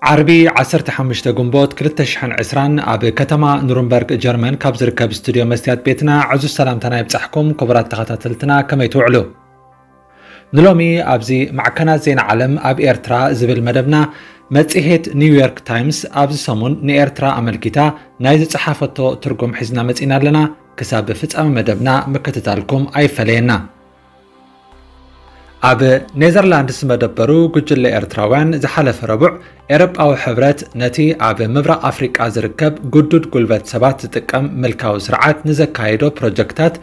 ዓርቢ ዓሰርተ ሓሙሽተ ግንቦት ክልተ ሽሕን ዕስራን ኣብ ከተማ ኑርንበርግ ጀርመን ካብ ዝርከብ ስቱድዮ መስትያት ቤትና ዕዙዝ ሰላምታና ይብጻሕኩም። ክቡራት ተኸታተልትና፣ ከመይ ትውዕሉ? ንሎሚ ኣብዚ ማዕከናት ዜና ዓለም ኣብ ኤርትራ ዝብል መደብና፣ መጽሔት ኒውዮርክ ታይምስ ኣብዚ ሰሙን ንኤርትራ ኣመልኪታ ናይ ዝጸሓፈቶ ትርጉም ሒዝና መጺና ኣለና። ክሳብ ፍጻመ መደብና ምክትታልኩም ኣይፈለየና። ኣብ ኔዘርላንድስ መደበሩ ጉጅለ ኤርትራውያን ዝሓለፈ ረቡዕ ኤሮጳዊ ሕብረት ነቲ ኣብ ምብራቕ ኣፍሪቃ ዝርከብ ግዱድ ጉልበት ሰባት ዝጥቀም ምልካዊ ስርዓት ንዘካየዶ ፕሮጀክታት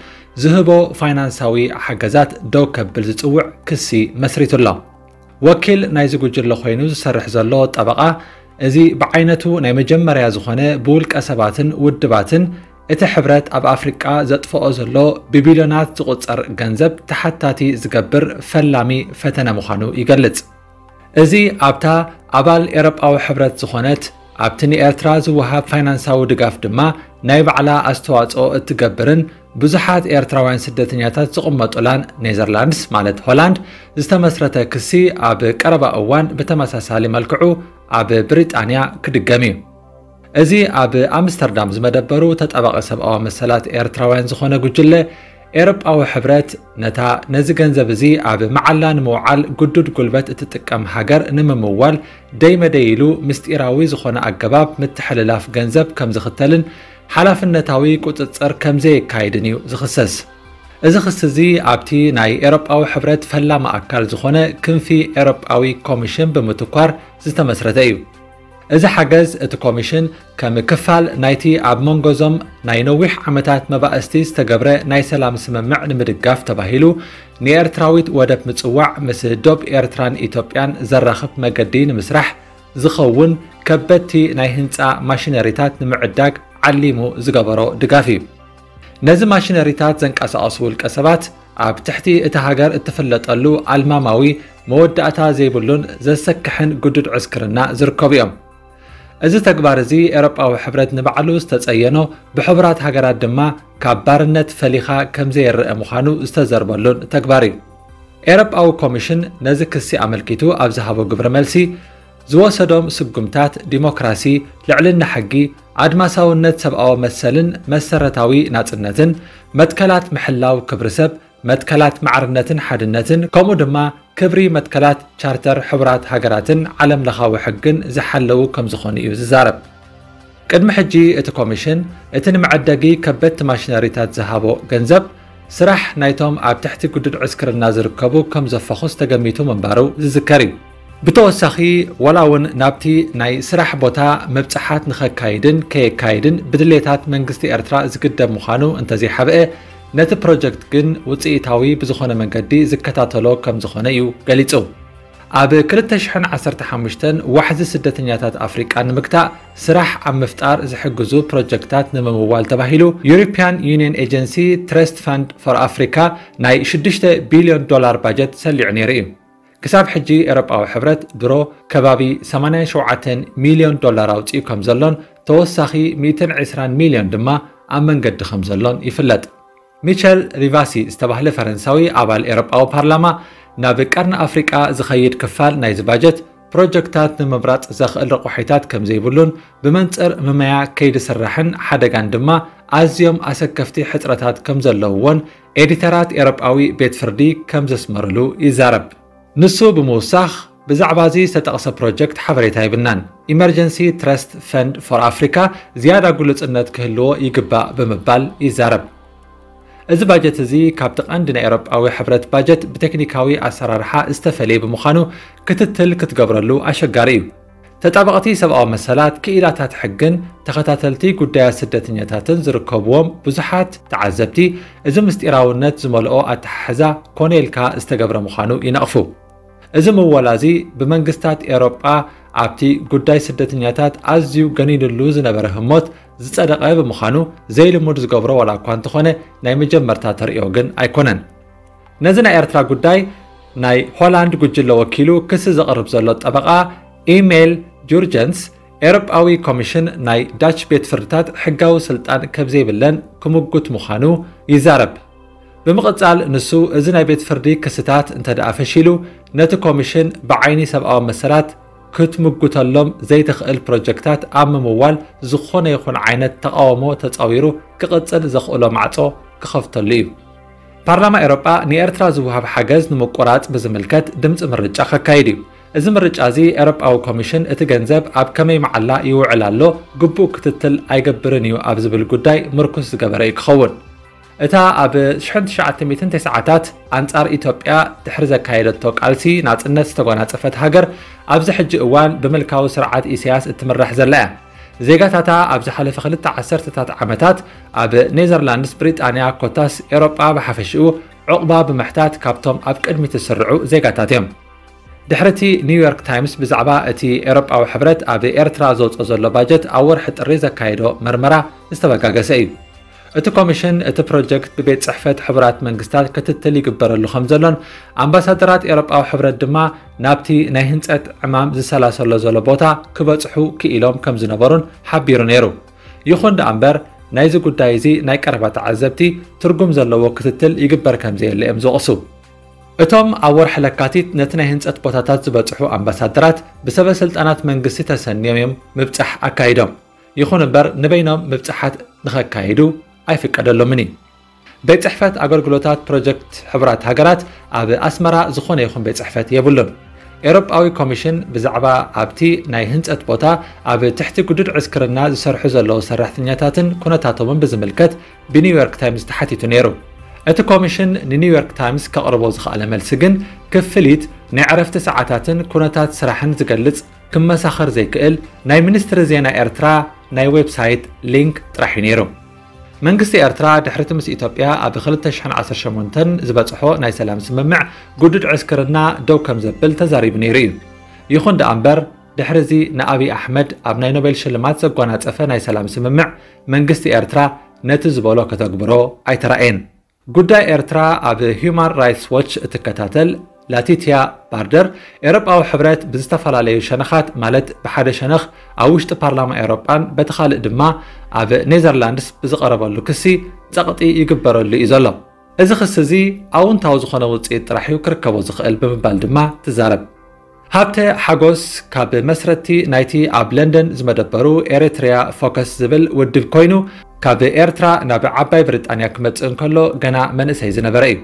ዝህቦ ፋይናንሳዊ ሓገዛት ደው ከብል ዝጽውዕ ክሲ መስሪቱ ኣሎ። ወኪል ናይዚ ጉጅለ ኮይኑ ዝሰርሕ ዘሎ ጠበቓ፣ እዚ ብዓይነቱ ናይ መጀመርያ ዝኾነ ብውልቀ ሰባትን ውድባትን እቲ ሕብረት ኣብ ኣፍሪቃ ዘጥፍኦ ዘሎ ብቢልዮናት ዝቑጸር ገንዘብ ተሓታቲ ዝገብር ፈላሚ ፈተነ ምዃኑ ይገልጽ። እዚ ኣብታ ኣባል ኤሮጳዊ ሕብረት ዝኾነት፣ ኣብቲ ንኤርትራ ዝወሃብ ፋይናንሳዊ ድጋፍ ድማ ናይ ባዕላ ኣስተዋጽኦ እትገብርን ብዙሓት ኤርትራውያን ስደተኛታት ዝቕመጡላን ኔዘርላንድስ ማለት ሆላንድ ዝተመስረተ ክሲ ኣብ ቀረባ እዋን ብተመሳሳሊ መልክዑ ኣብ ብሪጣንያ ክድገም እዩ። እዚ ኣብ ኣምስተርዳም ዝመደበሩ ተጣባቒ ሰብኣዊ መሰላት ኤርትራውያን ዝኾነ ጉጅለ፣ ኤሮጳዊ ሕብረት ነታ ነዚ ገንዘብ እዚ ኣብ መዓላ ንምውዓል ግዱድ ጉልበት እትጥቀም ሃገር ንምምዋል ደይ መደይ ኢሉ ምስጢራዊ ዝኾነ ኣገባብ ምትሕልላፍ ገንዘብ ከም ዝኽተልን ሓላፍነታዊ ቁጽጽር ከም ዘየካይድን እዩ ዝኽሰስ። እዚ ክሲ እዚ ኣብቲ ናይ ኤሮጳዊ ሕብረት ፈላሚ ኣካል ዝኾነ ክንፊ ኤሮጳዊ ኮሚሽን ብምትኳር ዝተመስረተ እዩ። እዚ ሓገዝ እቲ ኮሚሽን ከም ክፋል ናይቲ ኣብ መንጎዞም ናይ ነዊሕ ዓመታት መባእስቲ ዝተገብረ ናይ ሰላም ስምምዕ ንምድጋፍ ተባሂሉ ንኤርትራዊት ወደብ ምጽዋዕ ምስ ዶብ ኤርትራን ኢትዮጵያን ዘራኽብ መገዲ ንምስራሕ ዝኸውን ከበድቲ ናይ ህንጻ ማሽነሪታት ንምዕዳግ ዓሊሙ ዝገበሮ ድጋፍ እዩ። ነዚ ማሽነሪታት ዘንቀሳቐሱ ውልቀ ሰባት ኣብ ትሕቲ እታ ሃገር እትፍለጠሉ ኣልማማዊ መወዳእታ ዘይብሉን ዘሰክሕን ግዱድ ዕስክርና ዝርከቡ እዮም። እዚ ተግባር እዚ ኤሮጳዊ ሕብረት ንባዕሉ ዝተጸየኖ ብሕቡራት ሃገራት ድማ ካብ ባርነት ፈሊኻ ከም ዘየረአ ምዃኑ ዝተዘርበሉን ተግባር እዩ። ኤሮጳዊ ኮሚሽን ነዚ ክሲ ኣመልኪቱ ኣብ ዝሃቦ ግብረ መልሲ ዝወሰዶም ስጉምታት ዲሞክራሲ፣ ልዕልና ሕጊ፣ ኣድማሳውነት ሰብኣዊ መሰልን መሰረታዊ ናጽነትን፣ መትከላት ምሕላው ክብሪ ሰብ፣ መትከላት ማዕርነትን ሓድነትን ከምኡ ድማ ክብሪ መትከላት ቻርተር ሕቡራት ሃገራትን ዓለም ለኻዊ ሕግን ዝሓለዉ ከም ዝኾኑ እዩ ዝዛረብ። ቅድሚ ሕጂ እቲ ኮሚሽን እቲ ንመዐደጊ ከበድቲ ማሽነሪታት ዝሃቦ ገንዘብ ስራሕ ናይቶም ኣብ ትሕቲ ግዱድ ዕስክርና ዝርከቡ ከም ዘፈኹስ ተገሚቱ ምንባሩ ዝዝከር እዩ። ብተወሳኺ፣ ዋላ እውን ናብቲ ናይ ስራሕ ቦታ ምብጻሓት ንኸካይድን ከየካይድን ብድሌታት መንግስቲ ኤርትራ ዝግደብ ምዃኑ እንተዘይሓብአ፣ ነቲ ፕሮጀክት ግን ውጽኢታዊ ብዝኾነ መንገዲ ዝከታተሎ ከም ዝኾነ እዩ ገሊጹ። ኣብ ክልተ ሽሕን ዓሰርተ ሓሙሽተን ዋሕዚ ስደተኛታት ኣፍሪቃ ንምግታእ ስራሕ ኣብ ምፍጣር ዝሕግዙ ፕሮጀክታት ንምምዋል ተባሂሉ ዩሮፒያን ዩኒየን ኤጀንሲ ትረስት ፈንድ ፎር ኣፍሪካ ናይ ሽዱሽተ ቢልዮን ዶላር ባጀት ሰሊዑ ነይሩ እዩ። ክሳብ ሕጂ ኤሮጳዊ ሕብረት ድሮ ከባቢ ሰማንያን ሸውዓተን ሚልዮን ዶላር ኣውጺኡ ከም ዘሎን ተወሳኺ ሚእትን ዕስራን ሚልዮን ድማ ኣብ መንገዲ ከም ዘሎን ይፍለጥ። ሚቸል ሪቫሲ ዝተባህለ ፈረንሳዊ ኣባል ኤሮጳዊ ፓርላማ፣ ናብ ቀርኒ ኣፍሪቃ ዝኸይድ ክፋል ናይዚ ባጀት ፕሮጀክታት ንምምራጽ ዘኽእል ረቑሒታት ከም ዘይብሉን ብመንጽር ምመያ ከይዲ ስራሕን ሓደጋን ድማ ኣዝዮም ኣሰከፍቲ ሕጽረታት ከም ዘለውዎን ኤዲተራት ኤሮጳዊ ቤት ፍርዲ ከም ዘስመሩሉ ይዛረብ። ንሱ ብምውሳኽ፣ ብዛዕባ እዚ ዝተጠቕሰ ፕሮጀክት ሓበሬታ የብልናን። ኢመርጀንሲ ትረስት ፈንድ ፎር ኣፍሪካ ዝያዳ ግሉጽነት ክህልዎ ይግባእ ብምባል ይዛረብ። እዚ ባጀት እዚ ካብቲ ቀንዲ ናይ ኤውሮጳዊ ሕብረት ባጀት ብቴክኒካዊ ኣሰራርሓ ዝተፈለየ ብምዃኑ ክትትል ክትገብረሉ ኣሸጋሪ እዩ። ተጣበቕቲ ሰብኣዊ መሰላት፣ ክኢላታት ሕግን ተኸታተልቲ ጉዳያት ስደተኛታትን ዝርከብዎም ብዙሓት ተዓዘብቲ፣ እዚ ምስጢራውነት ዝመልኦ ኣተሓሕዛ ኮነ ኢልካ ዝተገብረ ምዃኑ ይነቕፉ። እዚ ምወላ እዚ ብመንግስታት ኤውሮጳ ኣብቲ ጉዳይ ስደተኛታት ኣዝዩ ገኒንሉ ዝነበረ ህሞት ዝጸደቐ ብምዃኑ ዘይልሙድ ዝገብሮ ዋላ እኳ እንተኾነ ናይ መጀመርታ ተርእዮ ግን ኣይኮነን። ነዚ ናይ ኤርትራ ጉዳይ ናይ ሆላንድ ጉጅለ ወኪሉ ክሲ ዘቕርብ ዘሎ ጠበቓ ኢሜል ጁርጀንስ ኤውሮጳዊ ኮሚሽን ናይ ዳች ቤት ፍርድታት ሕጋዊ ስልጣን ከም ዘይብለን ክምጉት ምዃኑ ይዛረብ። ብምቕጻል ንሱ እዚ ናይ ቤት ፍርዲ ክስታት እንተ ደኣ ፈሺሉ ነቲ ኮሚሽን ብዓይኒ ሰብኣዊ መሰላት ክትምጉተሎም ዘይትኽእል ፕሮጀክታት ኣብ ምምዋል ዝኾነ ይኹን ዓይነት ተቓውሞ ተጻዊሩ ክቕጽል ዘኽእሎ ማዕጾ ክኸፍተሉ እዩ። ፓርላማ ኤውሮጳ ንኤርትራ ዝወሃብ ሓገዝ ንምቁራጽ ብዝምልከት ድምጺ ምርጫ ከካይድ እዩ። እዚ ምርጫ እዚ ኤውሮጳዊ ኮሚሽን እቲ ገንዘብ ኣብ ከመይ መዓላ ይውዕል ኣሎ ግቡእ ክትትል ኣይገብርን እዩ ኣብ ዝብል ጉዳይ ምርኩስ ዝገበረ እዩ ክኸውን። እታ ኣብ ሽሕን ትሽዓተ ሚእትን ተስዓታት ኣንጻር ኢትዮጵያ ድሕሪ ዘካየደቶ ቃልሲ ናጽነት ዝተጎናጸፈት ሃገር፣ ኣብዚ ሕጂ እዋን ብምልካዊ ስርዓት ኢሳያስ እትምራሕ ዘላ እያ። ዜጋታታ ኣብ ዝሓለፈ ክልተ ዓሰርተታት ዓመታት ኣብ ኔዘርላንድስ፣ ብሪጣንያ፣ ኮታስ ኤውሮጳ ብሓፈሽኡ ዑቕባ ብምሕታት ካብቶም ኣብ ቅድሚት ዝስርዑ ዜጋታት እዮም። ድሕሪ እቲ ኒውዮርክ ታይምስ ብዛዕባ እቲ ኤውሮጳዊ ሕብረት ኣብ ኤርትራ ዘውፅኦ ዘሎ ባጀት ኣብ ወርሒ ጥሪ ዘካየዶ መርመራ ዝተበጋገሰ እዩ። እቲ ኮሚሽን እቲ ፕሮጀክት ብቤት ጽሕፈት ሕቡራት መንግስታት ክትትል ይግበረሉ ከም ዘሎን ኣምባሳደራት ኤውሮጳዊ ሕብረት ድማ ናብቲ ናይ ህንጸት ዕማም ዝሰላሰሎ ዘሎ ቦታ ክበጽሑ ክኢሎም ከም ዝነበሩን ሓቢሩ ነይሩ። ይኹን ደኣ እምበር ናይዚ ጉዳይ እዚ ናይ ቀረባ ተዓዘብቲ ትርጉም ዘለዎ ክትትል ይግበር ከም ዘየለ እዮም ዝወቕሱ። እቶም ኣብ ወርሒ ለካቲት ነቲ ናይ ህንጸት ቦታታት ዝበጽሑ ኣምባሳደራት ብሰበ ስልጣናት መንግስቲ ተሰንዮም እዮም ምብጻሕ ኣካይዶም። ይኹን እምበር ንበይኖም ምብጻሓት ንኸካይዱ ኣይፍቀደሎምን እዩ። ቤት ጽሕፈት ኣገልግሎታት ፕሮጀክት ሕቡራት ሃገራት ኣብ ኣስመራ ዝኾነ ይኹን ቤት ጽሕፈት የብሉን። ኤውሮጳዊ ኮሚሽን ብዛዕባ ኣብቲ ናይ ህንጸት ቦታ ኣብ ትሕቲ ግዱድ ዕስክርና ዝሰርሑ ዘለዉ ሰራሕተኛታትን ኩነታቶምን ብዝምልከት ብኒውዮርክ ታይምስ ተሓቲቱ ነይሩ። እቲ ኮሚሽን ንኒውዮርክ ታይምስ ከቕርቦ ዝኸኣለ መልሲ ግን ክፍሊት፣ ናይ ዕረፍቲ ሰዓታትን ኩነታት ስራሕን ዝገልጽ ክመሳኸር ዘይክእል ናይ ሚኒስትሪ ዜና ኤርትራ ናይ ዌብሳይት ሊንክ ጥራሕ እዩ ነይሩ። መንግስቲ ኤርትራ ድሕሪ እቲ ምስ ኢትዮጵያ ኣብ ክልተ ሽሕን ዓሰርተ ሸሞንተን ዝበጽሖ ናይ ሰላም ስምምዕ ግዱድ ዕስክርና ደው ከም ዘብል ተዛሪቡ ነይሩ እዩ። ይኹን ደኣ እምበር ድሕሪ እዚ ንኣብይ ኣሕመድ ኣብ ናይ ኖቤል ሽልማት ዘጓናጸፈ ናይ ሰላም ስምምዕ መንግስቲ ኤርትራ ነቲ ዝበሎ ከተግብሮ ኣይተራእየን። ጉዳይ ኤርትራ ኣብ ሂዩማን ራይትስ ዎች እትከታተል ላቲትያ ባርደር፣ ኤውሮጳዊ ሕብረት ብዝተፈላለዩ ሸነኻት፣ ማለት ብሓደ ሸነኽ ኣብ ውሽጢ ፓርላማ ኤውሮጳን በቲ ካልእ ድማ ኣብ ኔዘርላንድስ ብዝቐረበሉ ክሲ ጸቕጢ ይግበረሉ እዩ ዘሎ። እዚ ክሲ እዚ ኣውንታዊ ዝኾነ ውጽኢት ጥራሕ እዩ ክርከቦ ዝኽእል ብምባል ድማ ትዛረብ። ሃብተ ሓጎስ ካብ መስረቲ ናይቲ ኣብ ለንደን ዝመደበሩ ኤሪትሪያ ፎከስ ዝብል ውድብ ኮይኑ፣ ካብ ኤርትራ ናብ ዓባይ ብሪጣንያ ክመጽእ እንከሎ ገና መንእሰይ ዝነበረ እዩ።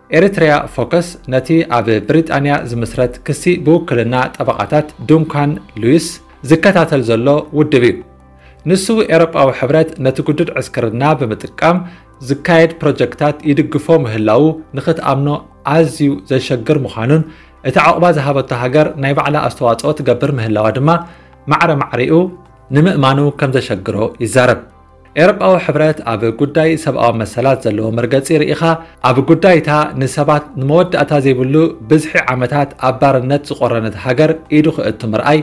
ኤሪትሪያ ፎከስ ነቲ ኣብ ብሪጣንያ ዝምስረት ክሲ ብውክልና ጠበቓታት ዱንካን ሉዊስ ዝከታተል ዘሎ ውድብ እዩ። ንሱ ኤውሮጳዊ ሕብረት ነቲ ግዱድ ዕስክርና ብምጥቃም ዝካየድ ፕሮጀክታት ይድግፎ ምህላዉ ንኽትኣምኖ ኣዝዩ ዘሸግር ምዃኑን፣ እቲ ዓቕባ ዝሃበቶ ሃገር ናይ ባዕላ ኣስተዋጽኦ ትገብር ምህላዋ ድማ ማዕረ ማዕሪኡ ንምእማኑ ከም ዘሸግሮ ይዛረብ። ኤውሮጳዊ ሕብረት ኣብ ጉዳይ ሰብኣዊ መሰላት ዘለዎ መርገጺ ርኢኻ፣ ኣብ ጉዳይታ ንሰባት ንመወዳእታ ዘይብሉ ብዝሒ ዓመታት ኣብ ባርነት ዝቖረነት ሃገር ኢዱ ክእቱ ምርኣይ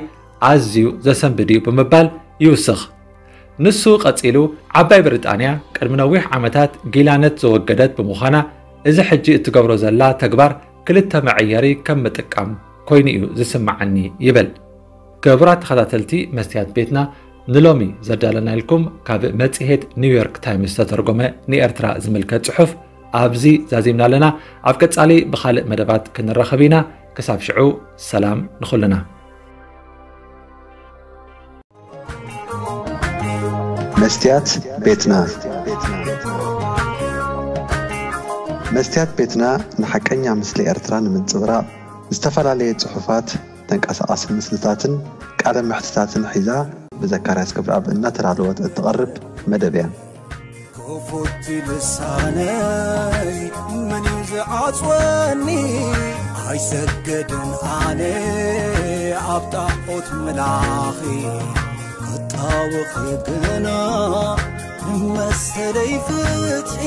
ኣዝዩ ዘሰንብድ እዩ ብምባል ይውስኽ። ንሱ ቀጺሉ፣ ዓባይ ብሪጣንያ ቅድሚ ነዊሕ ዓመታት ጊላነት ዘወገደት ብምዃና፣ እዚ ሕጂ እትገብሮ ዘላ ተግባር ክልተ መዐየሪ ከም ምጥቃም ኮይኑ እዩ ዝስምዓኒ ይብል። ክቡራት ተኸታተልቲ መስትያት ቤትና፣ ንሎሚ ዘዳለናልኩም ካብ መጽሔት ኒውዮርክ ታይምስ ዝተተርጎመ ንኤርትራ ዝምልከት ጽሑፍ ኣብዚ ዛዚምና ኣለና። ኣብ ቀጻሊ ብኻልእ መደባት ክንራኸብ ኢና። ክሳብ ሽዑ ሰላም ንኹልና። መስትያት ቤትና። መስትያት ቤትና ንሓቀኛ ምስሊ ኤርትራ ንምንጽብራቕ ዝተፈላለየ ጽሑፋት፣ ተንቀሳቓሲ ምስልታትን ቃለ መሕትታትን ሒዛ ብዘካርያስ ክብረኣብ እናተዳለወት እትቐርብ መደብ እያ። ክፉት ልሳነይ መን እዩ ዝዓጽወኒ? ኣይሰግድን ኣነ ኣብ ጣዖት ምላኺ፣ ክጣወኺ ግና ንመሰለይ ፍትሒ።